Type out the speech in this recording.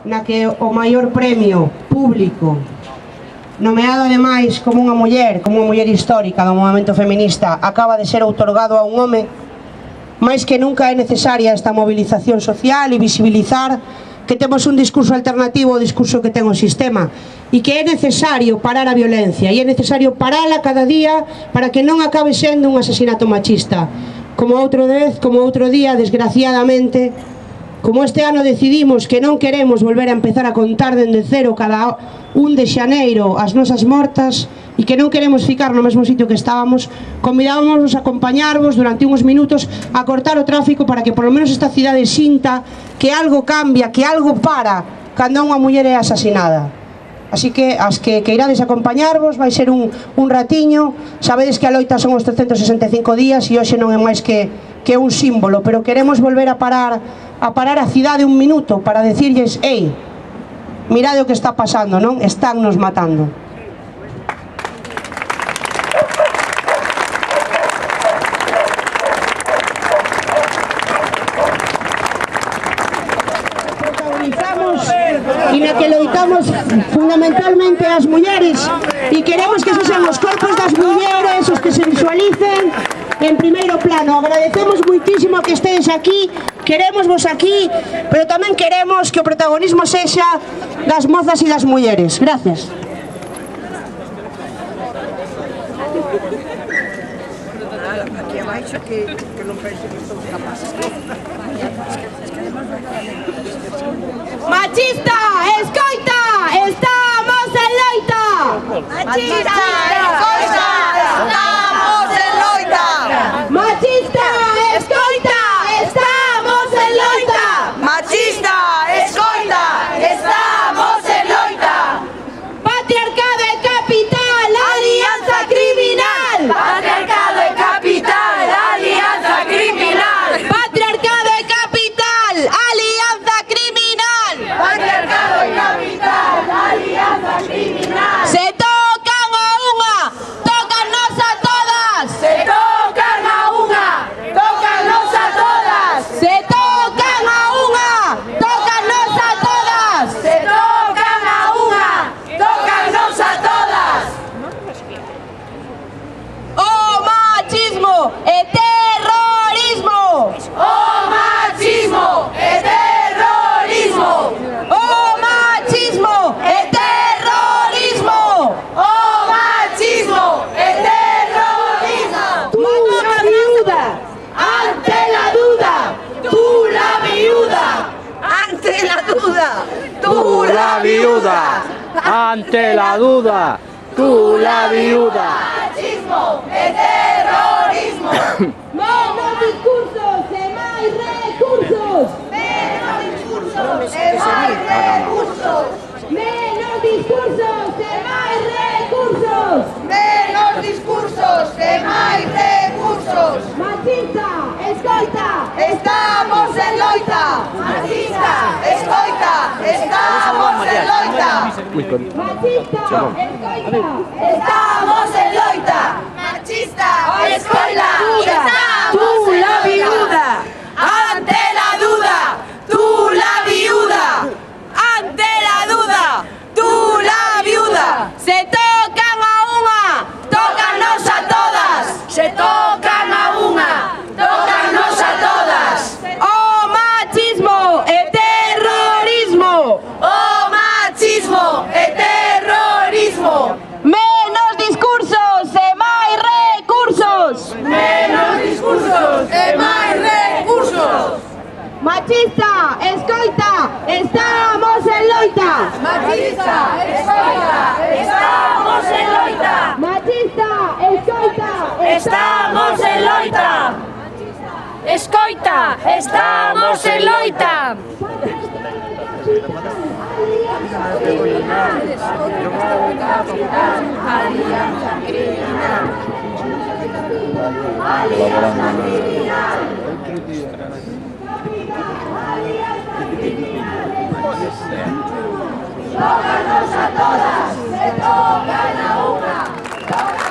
na que o maior premio público, nomeado ademais como unha muller histórica do movemento feminista, acaba de ser outorgado a un home, máis que nunca é necesaria esta movilización social e visibilizar que temos un discurso alternativo ao discurso que ten o sistema e que é necesario parar a violencia e é necesario parala cada día para que non acabe sendo un asesinato machista. Como outro día, desgraciadamente, como este ano decidimos que non queremos volver a empezar a contar dende cero cada 1 de xaneiro as nosas mortas e que non queremos ficar no mesmo sitio que estábamos, convidábamos a acompañarvos durante uns minutos a cortar o tráfico para que polo menos esta cidade sinta que algo cambia, que algo para cando unha muller é asesinada. Así que as que irades acompañarvos vai ser un ratiño. Sabedes que a loita son os 365 días e hoxe non é máis que un símbolo, pero queremos volver a parar a cidade un minuto para decirlles: ei, mirade o que está pasando, non? Están nos matando. E na que loitamos fundamentalmente as mulleres e queremos que sexan os corpos das mulleres os que se visualicen en primeiro plano. Agradecemos muitísimo que estedes aquí, queremos vos aquí, pero tamén queremos que o protagonismo sexa das mozas e das mulleres. Gracias. Aquí abaixo que non pense que son capaces. Machista, escoita, estamos en loita. Machista, escoita, estamos en loita. Machista, escoita, estamos en loita. Machista, escoita, estamos en loita. Patriarcado e capital, alianza criminal. Patriarcado e capital, alianza criminal. Patriarcado e capital, alianza criminal. Patriarcado e capital, alianza criminal. Se tocan a unha, tócanos a todas. Se tocan a unha, tócanos a todas. Se tocan a unha, tócanos a todas. Se tocan a unha, tócanos a todas. O machismo e terrorismo. O machismo e terrorismo. O machismo e terrorismo. O machismo e terrorismo. Tú la viuda, Ante la duda, tú la viuda. Ante la duda, Tú la viuda, ante la duda, tú la viuda. Machismo e terrorismo. menos discursos e máis recursos. Menos discursos e máis recursos. Menos discursos e máis recursos. Menos discursos e máis recursos. Machista, escoita, Estamos en loita. Machista, escoita, estamos en loita. machista, escoita. Estamos en loita. Machista, escoita, estamos en la viuda. Ante la duda, tú la viuda. Ante la duda, tú la viuda. Se tocan a unha, Tócanos a todas. Se tocan a unha, tócanos a todas. o machismo e terrorismo. O machismo e terrorismo. Menos discursos e máis recursos. Menos discursos e máis recursos. Machista, escoita, estamos en loita. Machista, escoita, estamos en loita. Machista, escoita, Estamos en loita. Escoita, estamos en loita. Tócanos a todas, se tocan a una.